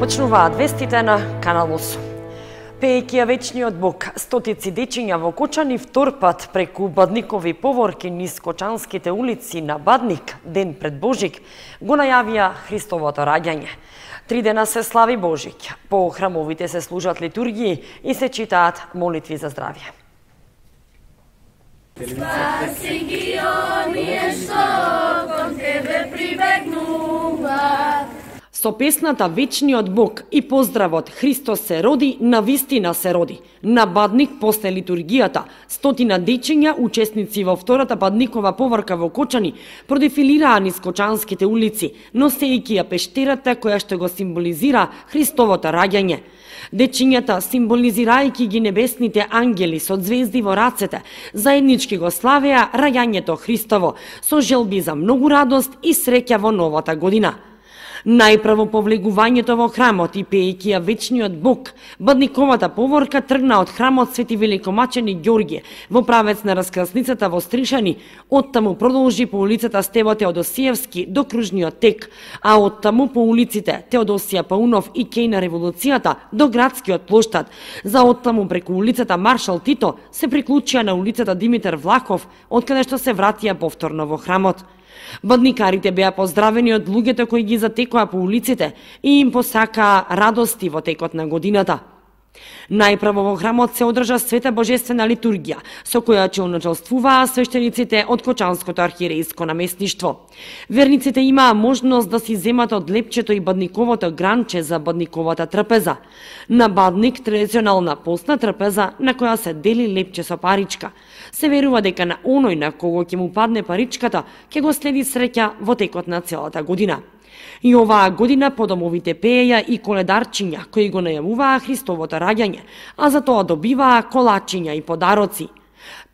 Почнуваат вестите на Канал 8. Пеејќи ја вечниот Бог, стотици дечиња во Кочани втор пат преку Бадникови поворки низ Кочанските улици на Бадник, ден пред Божик, го најавија Христовото раѓање. 3 дена се слави Божик, по храмовите се служат литургии и се читаат молитви за здравје. Спаси ги оние што кон тебе прибегнуваат. Со песната Вечниот Бог и поздравот Христос се роди, навистина се роди. На Бадник после литургијата, стотина дечиња, учесници во втората Бадникова поворка во Кочани, продефилираа низ Кочанските улици, носејќи ја пештерата која што го символизира Христовото раѓање. Дечињата, символизирајќи ги небесните ангели со звезди во рацете, заеднички го славеа раѓањето Христово, со желби за многу радост и среќа во новата година. Најпрво по влегувањето во храмот и пеејќи ја Вечниот Бог, Бадниковата поворка тргна од храмот Свети Великомаченик Ѓорѓе во правец на раскрасницата во Стришани, оттаму продолжи по улицата Стево Теодосиевски до кружниот тек, а оттаму по улиците Теодосија Паунов и Кеј на Револуцијата до градскиот плоштад, за оттаму преку улицата Маршал Тито се приклучија на улицата Димитар Влахов, откаде што се вратија повторно во храмот. Бадникарите беа поздравени од луѓето кои ги затекоа по улиците и им посакаа радости во текот на годината. Најпрво во храмот се одржа света божествена литургија, со која ќе уначалствуваа свештениците од Кочанското архиерејско наместништво. Верниците имаа можност да си земат од лепчето и Бадниковото гранче за Бадниковата трпеза. На Бадник традиционална постна трпеза на која се дели лепче со паричка. Се верува дека на оној на кого ќе му падне паричката, ќе го следи среќа во текот на целата година. И оваа година по домовите пееја и коледарчиња кои го најавуваа Христовото раѓање, а за тоа добиваа колачиња и подароци.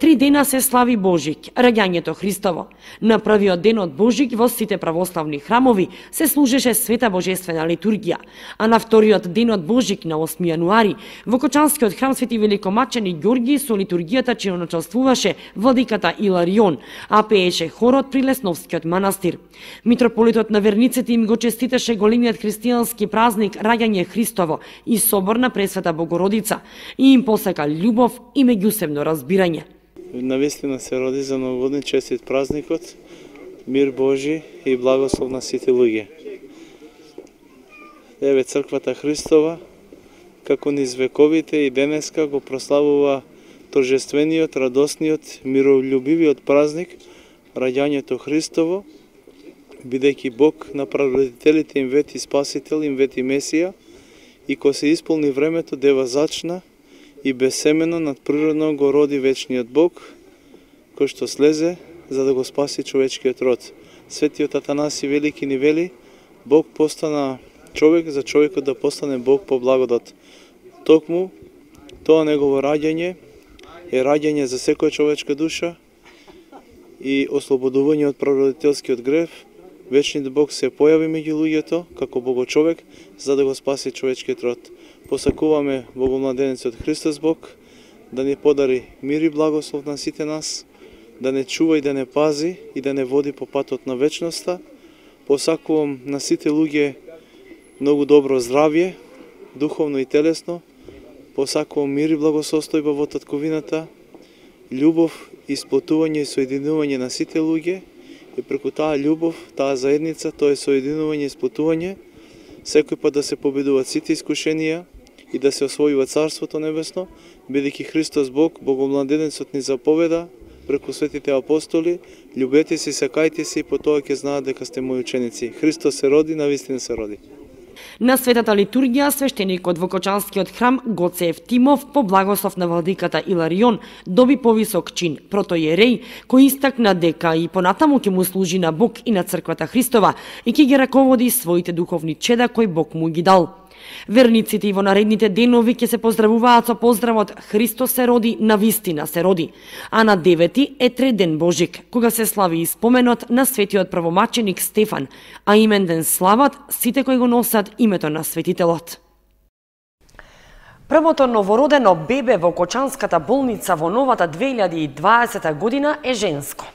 3 дена се слави Божик, раѓањето Христово. На првиот ден од Божик во сите православни храмови се служеше света божествена литургија, а на вториот ден од Божик на 8 јануари во Кочанскиот храм Свети Великомаченик Ѓорѓи со литургијата ќе началствуваше владиката Иларион, а пееше хорот при Лесновскиот манастир. Митрополитот на верниците им го честиташе големиот христијански празник раѓање Христово и собор на Пресвета Богородица и им посака љубов и меѓусебно разбирање. Навистина се роди за новогодни честит празникот, мир Божи и благослов на сите луѓе. Еве црквата Христова, како низ вековите и денеска го прославува торжествениот, радосниот, миролюбивиот празник, раѓањето Христово, бидејќи Бог на прародителите им вети Спасител, им вети Месија, и кога се исполни времето, дева зачна и безсемено надприродно го роди вечниот Бог, кој што слезе за да го спаси човечкиот род. Светиот Атанаси Велики ни вели, Бог постана човек за човекот да постане Бог по благодат. Токму тоа негово раѓање е раѓање за секоја човечка душа и ослободување од прародителскиот грев. Вечниот Бог се појави меѓу луѓето како Богочовек за да го спаси човечкиот род. Посакуваме Богомладенецот Христос Бог да ни подари мир и благослов на сите нас, да не чува и да не пази и да не води по патот на вечноста. Посакувам на сите луѓе многу добро здравје, духовно и телесно. Посакувам мир и благосостојба во татковината, љубов, исплотување и соединување на сите луѓе и преку таа љубов, таа заедница, тоа е соединување и исплотување, секој пат да се победуваат сите искушенија и да се освојува Царството Небесно, бидејќи Христос Бог, Богомладенецот ни заповеда преку светите апостоли, љубете се, сакајте се и по тоа ќе знаат дека сте мои ученици. Христос се роди, навистина се роди. На светата литургија свештеникот во Кочанскиот храм Гоце Евтимов по благослов на владиката Иларион доби повисок чин, протоиереј, кој истакна дека и понатаму ќе му служи на Бог и на црквата Христова и ќе ги раководи своите духовни чеда кои Бог му ги дал. Верниците и во наредните денови ќе се поздравуваат со поздравот Христос се роди, навистина се роди. А на 9 е Треден Божик, кога се слави и споменот на светиот правомаченик Стефан, а имен ден слават сите кои го носат името на светителот. Првото новородено бебе во Кочанската болница во новата 2020 година е женско.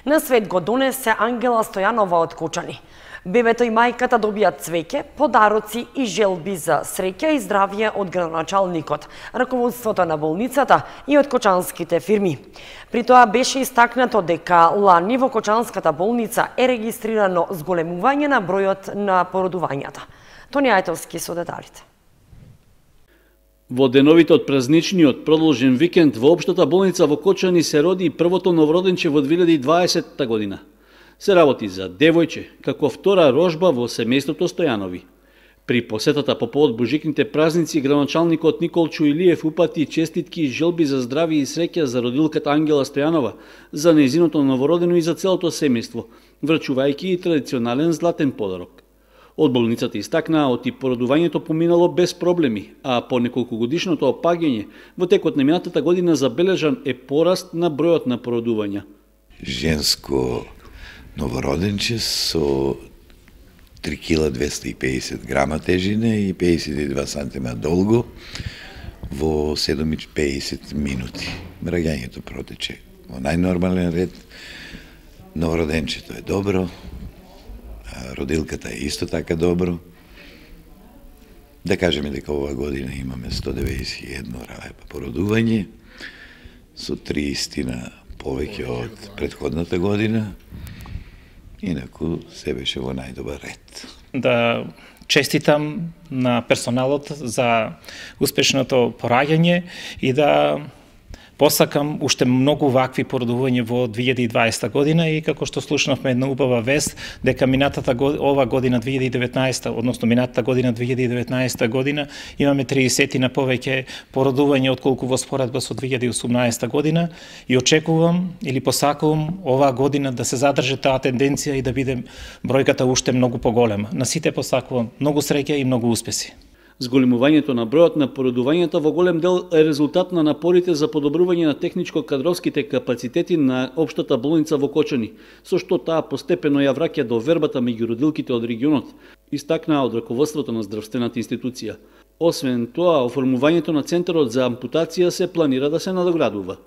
На свет го донесе Ангела Стојанова од Кочани. Бебето и мајката добијат цвеќе, подароци и желби за среќа и здравје од градоначалникот, раководството на болницата и од кочанските фирми. При тоа беше истакнато дека лани во Кочанската болница е регистрирано зголемување на бројот на породувањата. Тони Ајтовски со деталите. Во деновите од празничниот продолжен викенд во општата болница во Кочани се роди првото новороденче во 2020 година. Се работи за девојче, како втора рожба во семејството Стојанови. При посетата по повод божикните празници, градоначалникот Николчо Илиев упати честитки и желби за здравје и среќа за родилката Ангела Стојанова, за нејзиното новородено и за целото семејство, врачувајќи и традиционален златен подарок. Од болницата истакнаа оти породувањето поминало без проблеми, а по неколкогодишното опаѓање во текот на минатата година забележан е пораст на бројот на породувања. Женско новороденче со 3 кг 250 грама тежина и 52 сантима долго во 7:50 минути. Раѓањето протече во најнормален ред. Новороденчето е добро, родилката е исто така добро. Да кажеме дека ова година имаме 191 породување, со 30 повеќе од претходната година. Инаку се беше во најдобар ред. Да честитам на персоналот за успешното пораѓање и да посакам уште многу вакви породувања во 2020 година и како што слушнавме една убава вест дека ова година 2019, односно минатата година 2019 година имаме 30 на повеќе породувања отколку во споредба со 2018 година и очекувам или посакувам оваа година да се задржи таа тенденција и да биде бројката уште многу поголема. На сите посакувам многу среќа и многу успеси. Зголемувањето на бројот на породувањата во голем дел е резултат на напорите за подобрување на техничко-кадровските капацитети на општата болница во Кочани, со што таа постепено ја враќа до вербата меѓу родилките од регионот, истакнаа од раководството на здравствената институција. Освен тоа, оформувањето на центарот за ампутација се планира да се надоградува.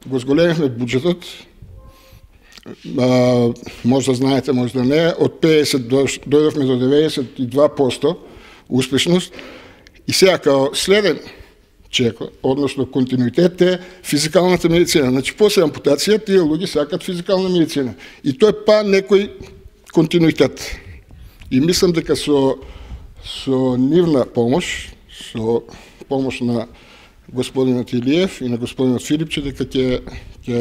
Го зголемивме буџетот, може да знаете, може да не, од 50 дојдовме до 92% успешност. И сега као следен чек, односно континуитет е физикалната медицина. Значи после ампутација тие луѓе сакат физикална медицина. И тој па некој континуитет. И мислам дека со нивна помош, со помош на господинот Илиев и на господинот Филипче, дека ќе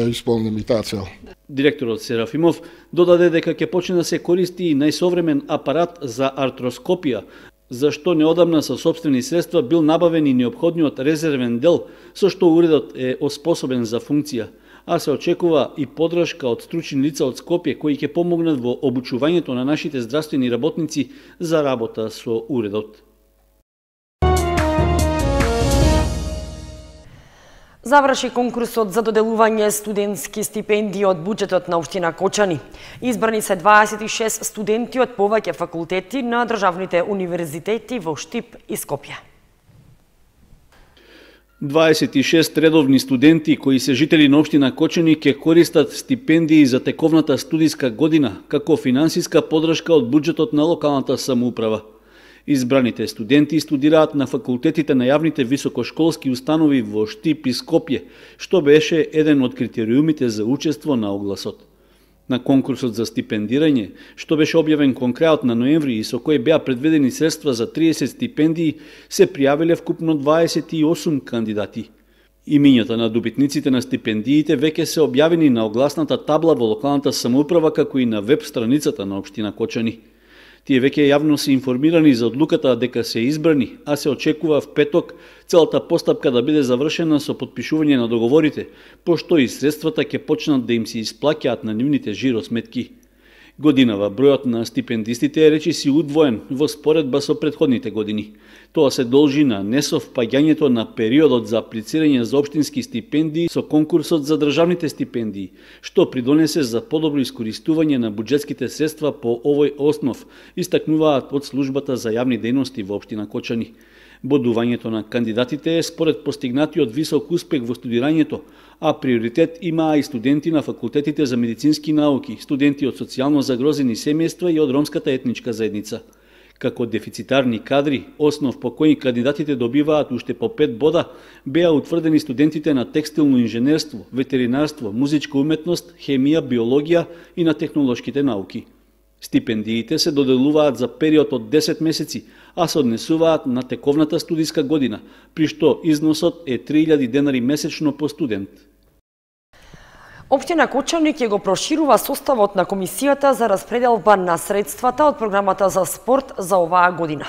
исполниме и таа цел. Директорот Серафимов додаде дека ќе почне да се користи и најсовремен апарат за артроскопија, зашто неодамна со сопствени средства бил набавен и неопходниот резервен дел, со што уредот е оспособен за функција, а се очекува и поддршка од стручни лица од Скопје кои ќе помогнат во обучувањето на нашите здравствени работници за работа со уредот. Заврши конкурсот за доделување студентски стипендии од буџетот на општина Кочани. Избрани се 26 студенти од повеќе факултети на државните универзитети во Штип и Скопје. 26 редовни студенти кои се жители на општина Кочани ќе користат стипендии за тековната студиска година како финансиска поддршка од буџетот на локалната самоуправа. Избраните студенти студираат на факултетите на јавните високошколски установи во Штип и Скопје, што беше еден од критериумите за учество на огласот. На конкурсот за стипендирање, што беше објавен кон крајот на ноември и со кој беа предвидени средства за 30 стипендии, се пријавиле вкупно 28 кандидати. Имињата на добитниците на стипендиите веќе се објавени на огласната табла во локалната самоуправа како и на веб страницата на општина Кочани. Тие веќе јавно се информирани за одлуката дека се избрани, а се очекува в петок целата постапка да биде завршена со потпишување на договорите, пошто и средствата ќе почнат да им се исплаќаат на нивните жиросметки. Годинава бројот на стипендистите е речиси удвоен во споредба со претходните години. Тоа се должи на несовпаѓањето на периодот за аплицирање за општински стипендии со конкурсот за државните стипендии, што придонесе за подобро искористување на буџетските средства по овој основ, истакнуваат од службата за јавни дејности во општина Кочани. Бодувањето на кандидатите е според постигнатиот висок успех во студирањето, а приоритет имаа и студенти на факултетите за медицински науки, студенти од социјално загрозени семејства и од ромската етничка заедница. Како дефицитарни кадри, основ по кој кандидатите добиваат уште по 5 бода, беа утврдени студентите на текстилно инженерство, ветеринарство, музичка уметност, хемија, биологија и на технолошките науки. Стипендиите се доделуваат за период од 10 месеци, а се однесуваат на тековната студиска година, при што износот е 3000 денари месечно по студент. Општина Кочани ќе го проширува составот на комисијата за распределба на средствата од програмата за спорт за оваа година.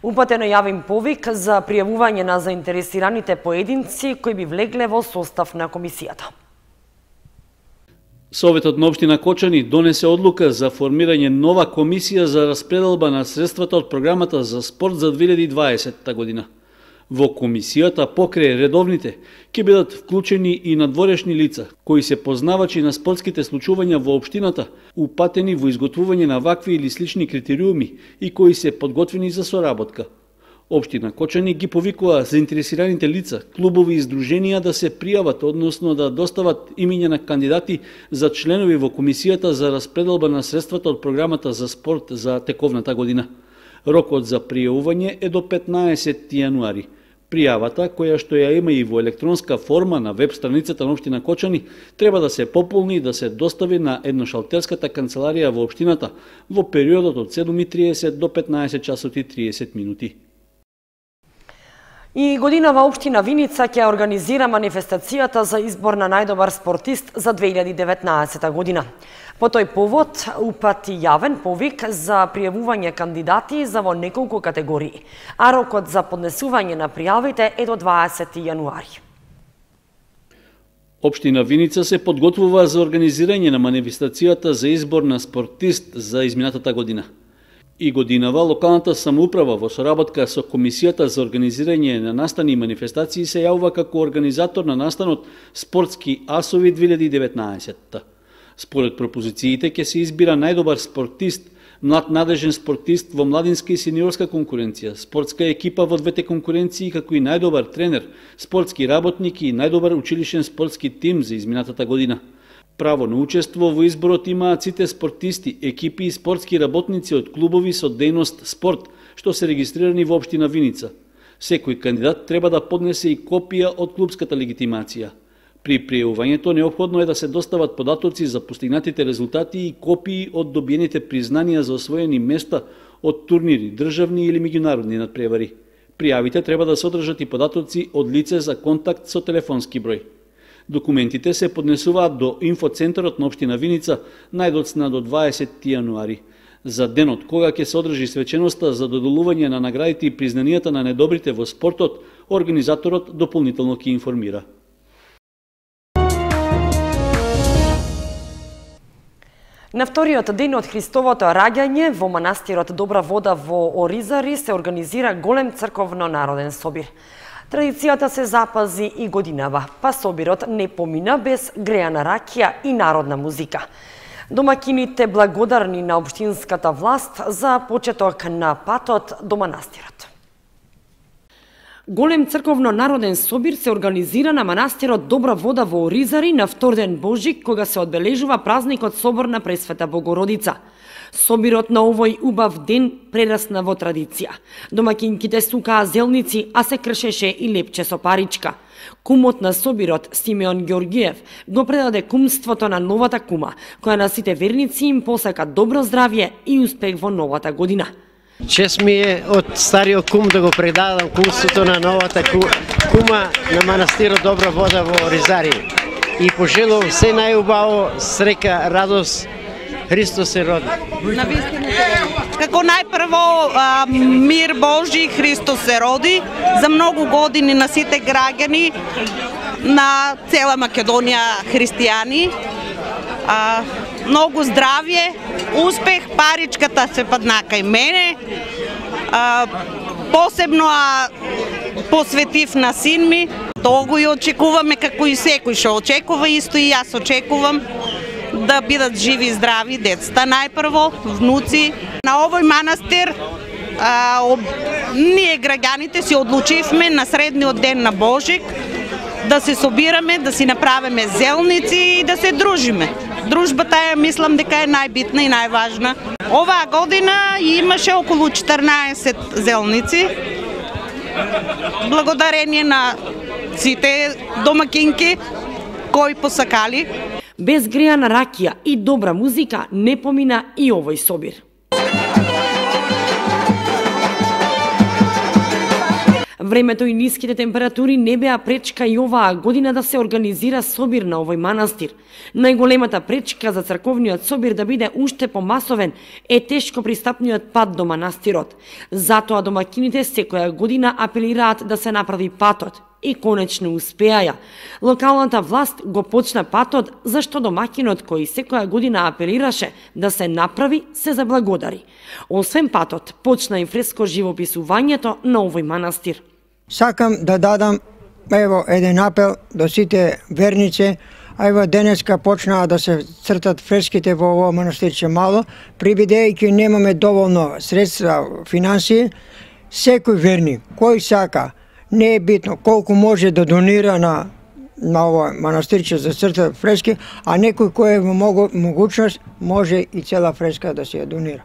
Упатен е јавен повик за пријавување на заинтересираните поединци кои би влегле во состав на комисијата. Советот на општина Кочани донесе одлука за формирање нова комисија за распределба на средствата од програмата за спорт за 2020 година. Во комисијата покрај редовните ќе бидат вклучени и надворешни лица, кои се познавачи на спортските случувања во општината, упатени во изготвување на вакви или слични критериуми и кои се подготвени за соработка. Општина Кочани ги повикува заинтересираните лица, клубови и здруженија да се пријават, односно да достават имиња на кандидати за членови во комисијата за распределба на средствата од програмата за спорт за тековната година. Рокот за пријавување е до 15 јануари. Пријавата, која што ја има и во електронска форма на веб страницата на општина Кочани, треба да се пополни и да се достави на едношалтерската канцеларија во општината во периодот од 7:30 до 15 часот и 30 минути. И годинава општина Виница ќе организира манифестацијата за избор на најдобар спортист за 2019 година. По тој повод упати јавен повик за пријавување кандидати за во неколку категории, а рокот за поднесување на пријавите е до 20 јануари. Општина Виница се подготвува за организирање на манифестацијата за избор на спортист за изминатата година. И годинава локалната самоуправа во соработка со Комисијата за организирање на настани и манифестации се јавува како организатор на настанот Спортски асови 2019. Според пропозициите ќе се избира најдобар спортист, млад надежен спортист во младинска и сениорска конкуренција, спортска екипа во двете конкуренции, како и најдобар тренер, спортски работник и најдобар училишен спортски тим за изминатата година. Право на учество во изборот имаат сите спортисти, екипи и спортски работници од клубови со дејност спорт, што се регистрирани во општина Виница. Секој кандидат треба да поднесе и копија од клубската легитимација. При пријавувањето неопходно е да се достават податоци за постигнатите резултати и копии од добиените признанија за освоени места од турнири, државни или меѓународни надпревари. Пријавите треба да содржат и податоци од лице за контакт со телефонски број. Документите се поднесуваат до инфоцентарот на општина Виница најдоцна до 20 јануари. За денот кога ќе се одржи свеченоста за доделување на наградите и признанијата на недобрите во спортот, организаторот дополнително ќе информира. На вториот ден од Христовото раѓање во манастирот Добра вода во Оризари се организира голем црковно народен собир. Традицијата се запази и годинава, па собирот не помина без греана ракија и народна музика. Домакините благодарни на општинската власт за почеток на патот до манастирот. Голем црковно народен собир се организира на манастирот Добра вода во Оризари на втор ден Божик, кога се одбележува празникот Собор на Пресвета Богородица. Собирот на овој убав ден прерасна во традиција. Домакинките сукаа зелници, а се кршеше и лепче со паричка. Кумот на собирот, Симеон Ѓоргиев, го предаде кумството на новата кума, која на сите верници им посака добро здравје и успех во новата година. Чест ми е од стариот кум да го предадам кумството на новата кума на манастирот Добра вода во Оризари. И пожелувам се најубаво, среќа, радост, Христос се роди. Како најпрво мир Божи, Христос се роди, за многу години на сите граѓани на цела Македонија христијани. Многу здравје, успех, паричката се падна кај мене. Посебно посветив на син ми. Долго и очекуваме, како и секој што очекува, исто и јас очекувам да бидат живи и здрави децата најпрво, внуци. На овој манастир ние граѓаните си одлучивме на средниот ден на Божик да се собираме, да си направиме зелници и да се дружиме. Дружбата мислам дека е најбитна и најважна. Оваа година имаше околу 14 зелници. Благодарение на сите домакинки кои посакали. Без греана ракија и добра музика не помина и овој собир. Времето и ниските температури не беа пречка и оваа година да се организира собир на овој манастир. Најголемата пречка за црковниот собир да биде уште помасовен е тешко пристапниот пат до манастирот. Затоа домакините секоја година апелираат да се направи патот и конечно успеаја. Локалната власт го почна патот, зашто домакинот кој секоја година апелираше да се направи, се заблагодари. Освен патот, почна и фреско живописувањето на овој манастир. Сакам да дадам еден апел до сите верници, денеска почнаа да се цртат фреските во овој манастирче мало, прибидејќи немаме доволно средства, финансии, секој верник кој сака, не е битно колку може да донира на овој манастирче за црта фрески, а некој кој е во могучност може и цела фреска да се ја донира.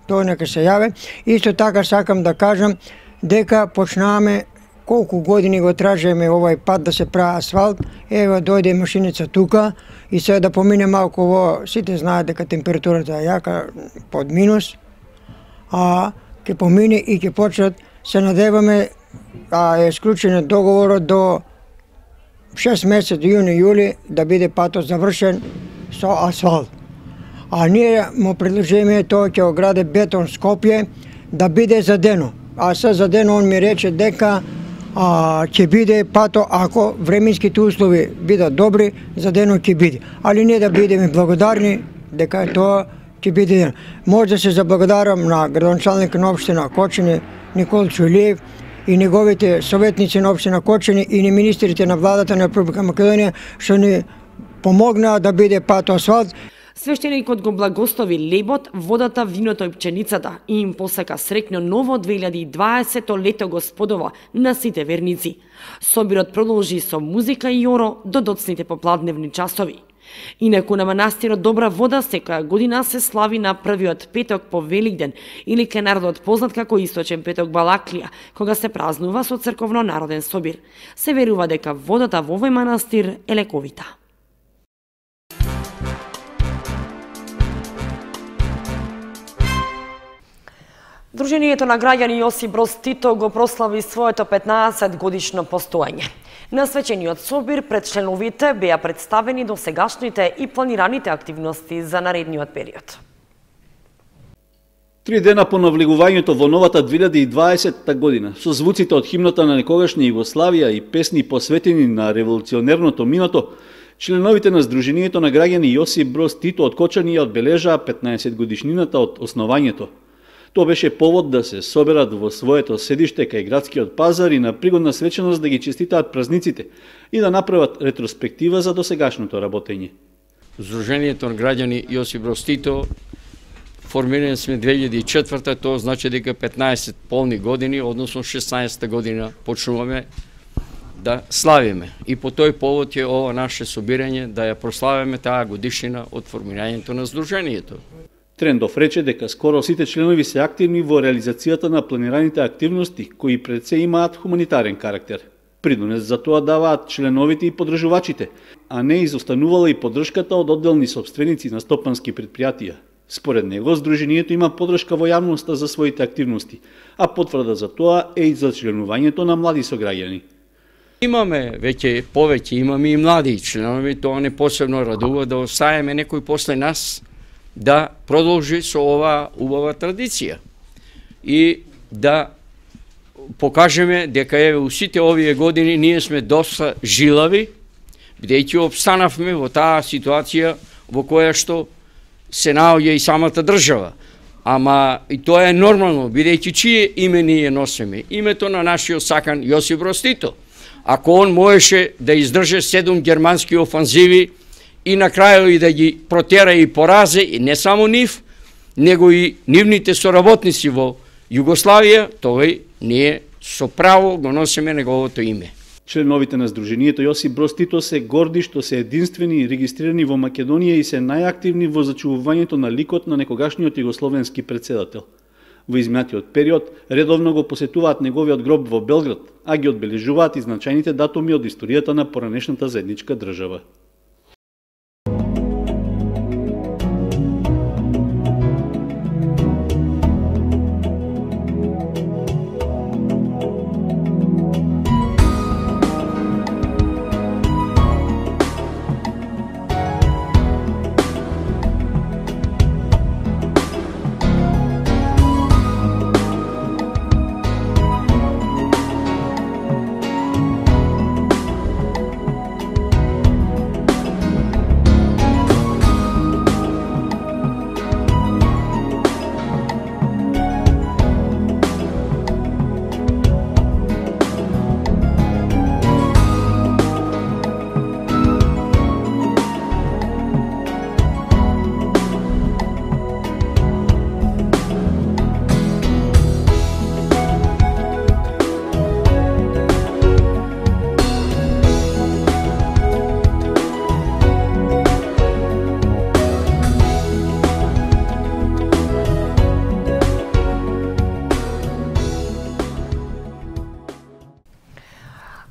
Тоа нека се јаве. Исто така сакам да кажам дека почнаваме колку години го тражиме овој пат да се прави асфалт. Ева дојде машиница тука и сега да помине малку во, сите знаат дека температурата е јака под минус, ќе помине и ќе почнат, се надеваме, е склучен договорот до 6 месец, јуни-јули, да биде патот завршен со асфалт. А ние му предложиме тоа ќе ограде бетон Скопје да биде задено. А се задено он ми рече дека ќе биде пато ако временските услови бидат добри, задено ќе биде. Али не да бидеме благодарни дека тоа ќе биде. Може да се заблагодарам на градоначалникот на општина Кочани Никол Чулиев и неговите советници на општина Кочани и на министрите на владата на Република Македонија што ни помогнаа да биде пато асфалт. Свештеникот го благослови лебот, водата, виното и пченицата и им посака среќно ново 2020 лето Господово на сите верници. Собирот продолжи со музика и јоро до доцните попладневни часови. Инаку на манастирот Добра вода секоја година се слави на првиот петок по Великден или кај народот познат како Источен петок Балаклија, кога се празнува со црковно народен собир. Се верува дека водата во овој манастир е лековита. Друженијето на граѓани Јосип Броз Тито го прослави своето 15 годишно постоење. На свечениот собир пред членовите беа представени досегашните и планираните активности за наредниот период. 3 дена по навлегувањето во новата 2020 година, со звуците од химната на некогашна Југославија и песни посветени на револуционерното минато, членовите на Сдруженијето на граѓани Јосип Броз Тито од Кочани ја одбележаа 15 годишнината од основањето. Тоа беше повод да се соберат во своето седиште кај градскиот пазар и на пригодна свеченост да ги честитаат празниците и да направат ретроспектива за досегашното работење. Сдруженијето на граѓани Јосип Броз Тито формирани сме 2004, тоа значи дека 15 полни години, односно 16 година почнуваме да славиме. И по тој повод е ова наше собирање да ја прославиме таа годишнина од формирањето на Сдруженијето. Трендов рече дека скоро сите членови се активни во реализацијата на планираните активности кои пред се имаат хуманитарен карактер. Придонес за тоа даваат членовите и подржувачите, а не изостанувала и поддршката од одделни сопственици на стопански предпријатија. Според него, Сдруженијето има поддршка во јавноста за своите активности, а потврда за тоа е и за членувањето на млади сограѓани. Имаме повеќе имаме и млади членови, тоа не посебно радува да оставиме некој после нас да продолжи со оваа убава традиција и да покажеме дека у сите овие години ние сме доста жилави, бидејќи обстанавме во таа ситуација во која што се наоѓа и самата држава. Ама и тоа е нормално, бидејќи чие име ние носиме? Името на нашиот сакан Јосип Броз Тито. Ако он можеше да издрже 7 германски офанзиви и на крајот и да ги протера и поразе, и не само нив, него и нивните соработници во Југославија, тој ние со право го носиме неговото име. Членовите на Сдруженијето Јосип Броз Тито се горди што се единствени и регистрирани во Македонија и се најактивни во зачувувањето на ликот на некогашниот југословенски претседател. Во изминатиот период редовно го посетуваат неговиот гроб во Белград, а ги одбележуваат и значајните датуми од историјата на поранешната заедничка држава.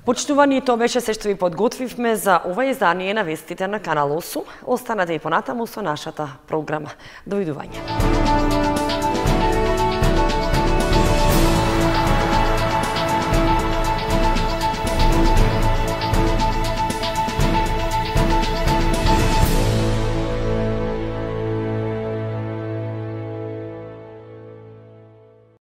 Почитувани, тоа беше се што ви подготвивме за ова издание на вестите на Канал 8. Останете и понатаму со нашата програма. Довидување.